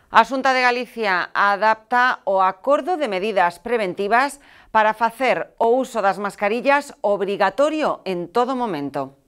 A Xunta de Galicia adapta o acordo de medidas preventivas para facer o uso das mascarillas obrigatorio en todo momento.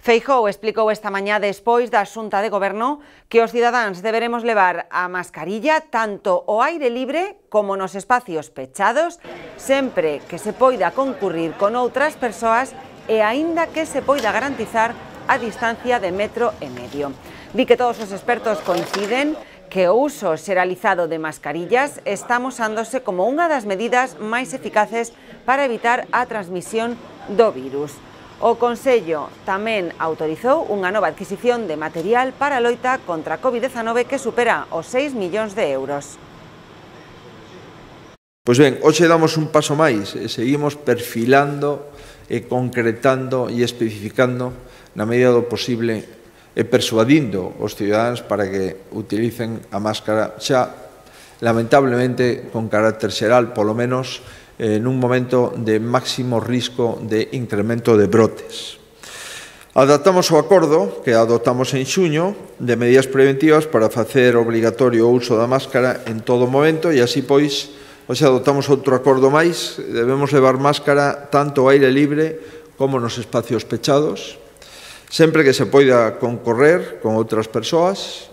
Feijóo explicou esta mañá despois da Xunta de Goberno que os cidadáns deberemos levar a mascarilla tanto ao aire libre como nos espacios pechados, sempre que se poida concurrir con outras persoas e aínda que se poida garantizar a distancia de 1,5 metros. Di que todos os expertos coinciden que o uso xeralizado de mascarillas está amosándose como unha das medidas máis eficaces para evitar a transmisión do virus. O Consello tamén autorizou unha nova adquisición de material para a loita contra a COVID-19 que supera os 6 millóns de euros. Pois ben, hoxe damos un paso máis e seguimos perfilando e concretando e especificando na medida do posible e persuadindo os cidadáns para que utilicen a máscara xa, lamentablemente, con carácter xeral, polo menos nun momento de máximo risco de incremento de brotes. Adaptamos o acordo que adoptamos en xuño de medidas preventivas para facer obrigatorio o uso da máscara en todo momento e así, pois, hoxe adoptamos outro acordo máis. Debemos levar máscara tanto ao aire libre como nos espacios pechados, sempre que se poida concorrer con outras persoas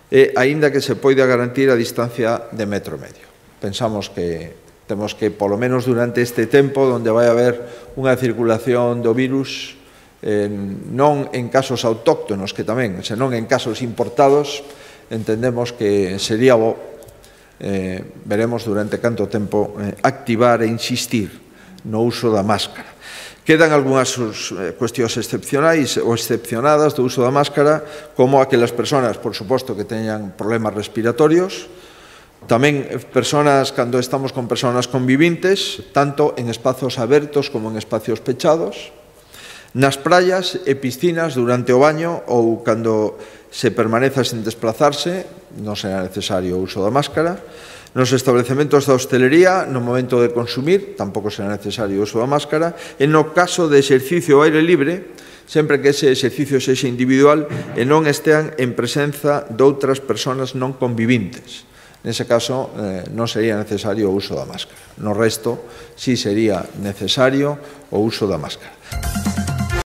e aínda que se poida garantir a distancia de 1,5 metros. Pensamos que temos que, polo menos durante este tempo, onde vai haber unha circulación do virus, non en casos autóctonos, que tamén, senón en casos importados, entendemos que sería bo, veremos durante canto tempo, activar e insistir no uso da máscara. Quedan algunhas cuestións excepcionais ou excepcionadas do uso da máscara, como aquelas persoas, por suposto, que teñan problemas respiratorios, tamén persoas cando estamos con persoas convivintes, tanto en espazos abertos como en espacios pechados, nas praias e piscinas durante o baño ou cando se permaneza sen desplazarse, non será necesario o uso da máscara. Nos establecementos da hostelería, no momento de consumir, tampouco será necesario o uso da máscara. E no caso de exercicio ao aire libre, sempre que ese exercicio sexa individual e non estean en presenza de outras persoas non convivintes. Nese caso, non sería necesario o uso da máscara. No resto, sí sería necesario o uso da máscara.